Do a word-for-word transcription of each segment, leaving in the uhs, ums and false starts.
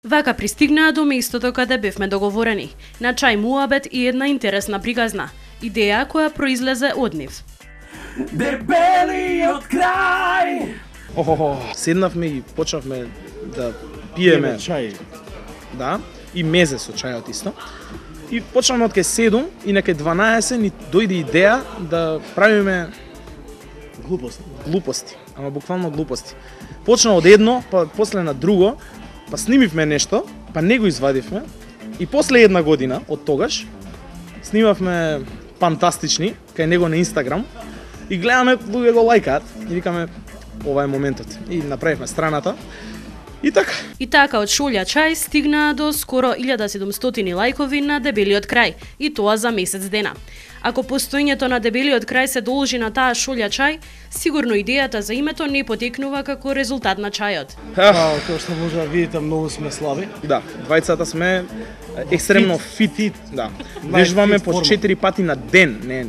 Вака пристигнаа до местото каде бевме договорени, на чај муабет и една интересна приказна, идеја која произлезе од нив. Дебели од крај! Охо, седнавме и почнавме да пиеме чај. Да, и мезе со чајот исто. И почнавме од кај седум и на кај дванаесет ни дојде идеја да правиме Глупост. глупости, ама буквално глупости. Почна од едно, па после на друго, па снимивме нешто, па не го извадивме и после една година од тогаш снимавме фантастични кај него на Инстаграм и гледаме луѓе го лајкаат и викаме ова е моментот. И направивме страната. И така. И така од Шолја чај стигнаа до скоро илјада и седумстотини лајкови на Дебелиот крај, и тоа за месец дена. Ако постоењето на Дебелиот крај се должи на таа Шолја чај, сигурно идејата за името не потекнува како резултат на чајот. Па, тоа што може да видите, многу сме слаби. Да, двајцата сме екстремно фит, фит да. Вежбаме по четири пати на ден, не.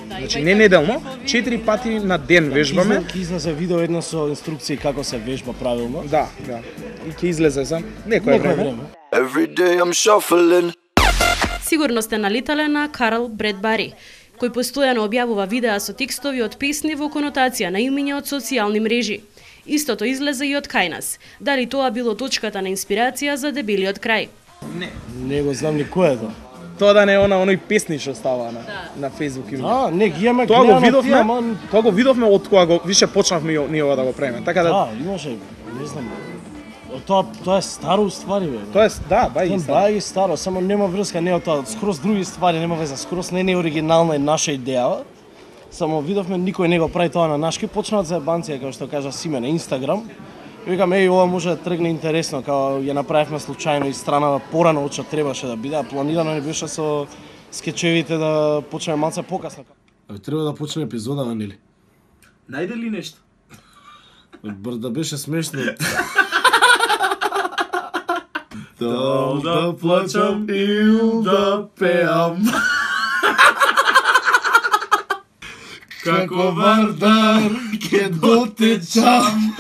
Значи не неделно, четири пати на ден вежбаме. Ќе излезе видео едно со инструкции како се вежба правилно. Да, да. И ќе излезе за некое време. Every day I'm shuffling. Сигурно сте налетале на Карл Бредбари, кој постојано објавува видеа со текстови од песни во конотација на имиња од социјални мрежи. Истото излезе и од кај нас. Дали тоа било точката на инспирација за Дебелиот крај? Не. Не го знам ни кој е тоа. Тоа да не е она оној песни што става на Да. на Facebook и А, не ги имаме Тоа го гледано видовме, тие, ама- тоа го видовме од кога го више почнавме и ние ова да го правиме. Така да Да, имаше, не знам. Тоа тоа е старо уствари бе. тоа е да, бај Тоа и е бај старо, само нема врска, не е тоа, скроз други ствари, нема веза, скроз не е оригинална и наша идеја. Само видовме никој не го прави тоа на нашки, почнаат за ебанција како што кажа Симе на Инстаграм. И викам, еј, ова може да тргне интересно, као ја направивме случајно и страна порано од што требаше да биде, а планирано не беше со скечевите да почнеме малце покасно. Абе, треба да почне епизодава, нели? Најде ли нешто? Бар да беше смешно. Дал да плачам или да пеам. Како Вардар ке дотечам,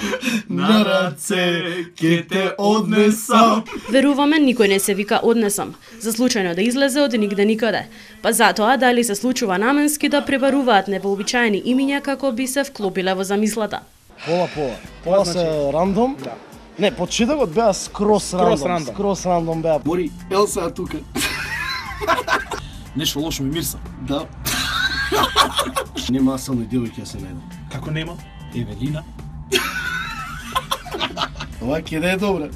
на раце ке те однесам. Веруваме никој не се вика однесам, за случајно да излезе од нигде никаде. Па затоа дали се случува наменски да пребаруваат невообичаени имиња како би се вклопиле во замислата. Пола, пола. Пола се рандом. Да. Не, почетокот беа скрос рандом. рандом. Скрос рандом беа. Бори, Елса е тука. Нешто лошо ми мирса. Да. Нема само девојки ја се најдам. Како нема? Евелина. Ова ќе да е добре.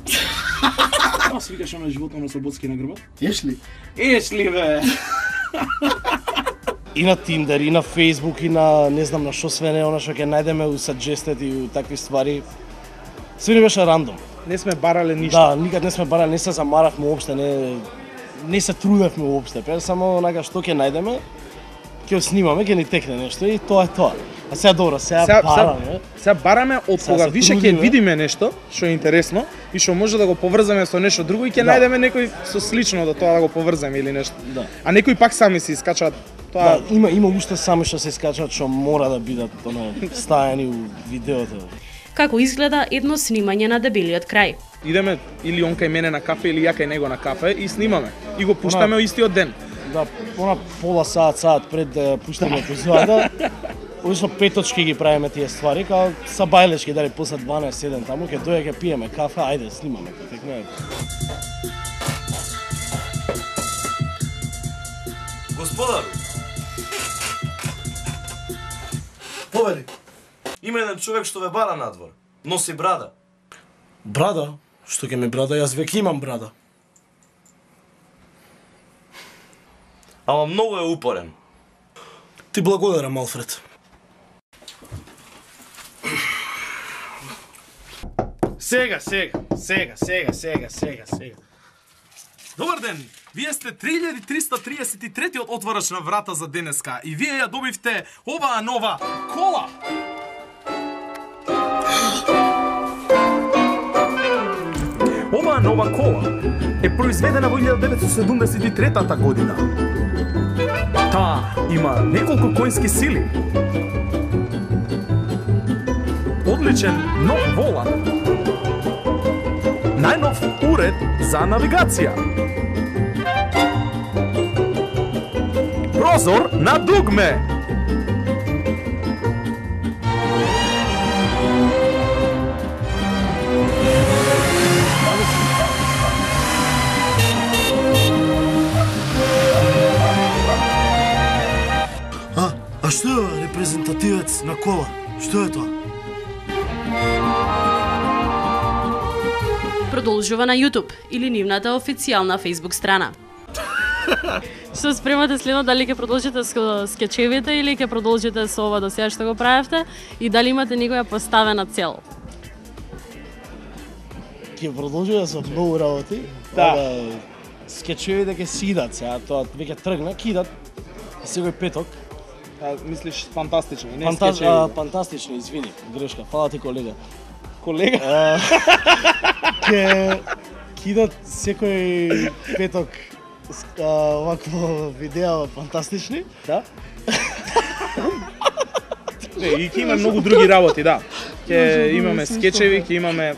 Тоа се викаш на животно на Слободски на грбот? Еш ли? Еш ли бе? И на Тиндер, и на Фейсбук, и на не знам на што све не, она што ќе најдеме у саджестет и у такви ствари. Све ни беше рандом. не сме барале ништо. Да, никад не сме барали, не се замаравме уопште, не не се трудевме уопште. Пе само онака што ќе најдеме, ќе го снимаме, ќе ни текне нешто и тоа е тоа. А сега добро, сега Сега- бараме. Сега бараме од Сега кога се више ќе трудиме. видиме нешто што е интересно и што може да го поврзаме со нешто друго и ќе Да. најдеме некој со слично до тоа да го поврзаме или нешто. Да. А некои пак сами се искачаат тоа. Да, има има уште сами што се искачаат што мора да бидат оно стајани у видеото. Како изгледа едно снимање на Дебелиот крај. Идеме или он кај мене на кафе или ја кај него на кафе и снимаме. И го пуштаме Она- истиот ден. Да, она пола саат, саат пред да пуштаме епизодата. Обично пет точки ги правиме тие ствари, као са бајлешки, дали после дванаесет седем таму, ќе дојде ќе пиеме кафе, ајде, снимаме, ќе текне. Господару, повели, има еден човек што ве бара надвор. Носи брада. Брада? Што ќе ми брада? Јас веќе имам брада. Ама многу е упорен. Ти благодарам, Алфред. Сега, сега, сега, сега, сега, сега, сега. Добар ден! Вие сте три илјади триста триесет и трети отворач на врата за денеска и вие ја добивте оваа нова кола! Оваа нова кола е произведена во илјада деветстотини седумдесет и трета година. Таа има неколку коњски сили, одличен нов волан, најнов уред за навигација. Прозор на дугме. А, а што е репрезентативец на кола? Што е тоа? Продолжува на YouTube или нивната официјална Facebook страна. Што спремате следно, дали ќе продолжите со скечевите или ќе продолжите со ова до сега што го правевте и дали имате некоја поставена цел? Ќе продолжиме со многу работи. Да. Ова, скечевите ќе си идат сега, тоа веќе тргна, ќе идат секој петок. А, мислиш фантастични, не Фанта... скечеви. а, фантастични, извини, грешка. Фала ти, колега. Колега, А, Ќе ќе идат секој петок а, овакво видео фантастични. да? Не, и ќе има многу други работи, да. Ќе имаме скечеви, ќе имаме,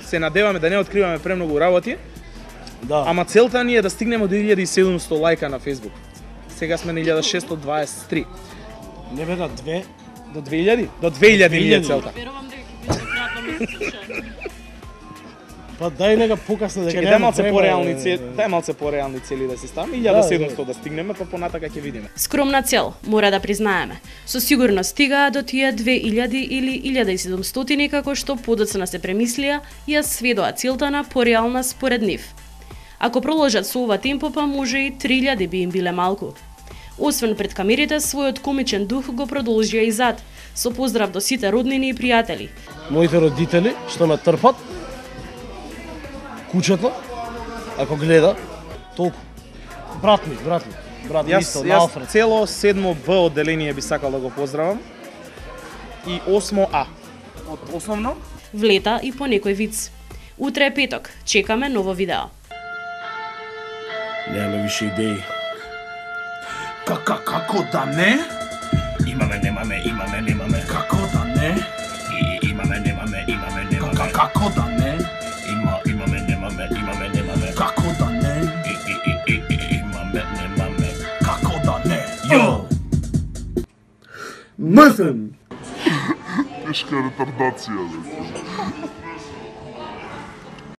се надеваме да не откриваме премногу работи, Да. ама целта ни е да стигнеме до илјада и седумсто лајка на Facebook. Сега сме на илјада шестстотини дваесет и три. Не бе на две. До две илјади? До две илјади ни е целта. Верувам дека ќе биде кратко месече. Па дај нека покасно дека Чекај, дај малце пореални цели, дај малце пореални цели да си ставаме, илјада и седумсто да стигнеме, па понатака ќе видиме. Скромна цел, мора да признаеме. Со сигурност стигаа до тие две илјади или илјада и седумстотини како што подоцна се премислија и ја сведоа целта на пореална според нив. Ако проложат со ова темпо, па може и три илјади би им биле малку. Освен пред камерите, својот комичен дух го продолжија и зад, со поздрав до сите роднини и пријатели. Моите родители што ме трпат, кучето, ако гледа, толку. Брат ми, брат ми, брат ми Јас, исто, на јас Алфред. цело седмо Б одделение би сакал да го поздравам и осмо А. Од основно, Влета и по некој виц. Утре е петок, чекаме ново видео. Немаме више идеи. Кака, како да не? Имаме, немаме, имаме, немаме. Како да не? И, имаме, немаме, имаме, немаме. Ка- Како да не? Има, имаме, немаме, имаме, немаме. Како да не? И, и, и, и, и, имаме, немаме. Како да не? Йо! Мртен! Тешка ретардација, бе.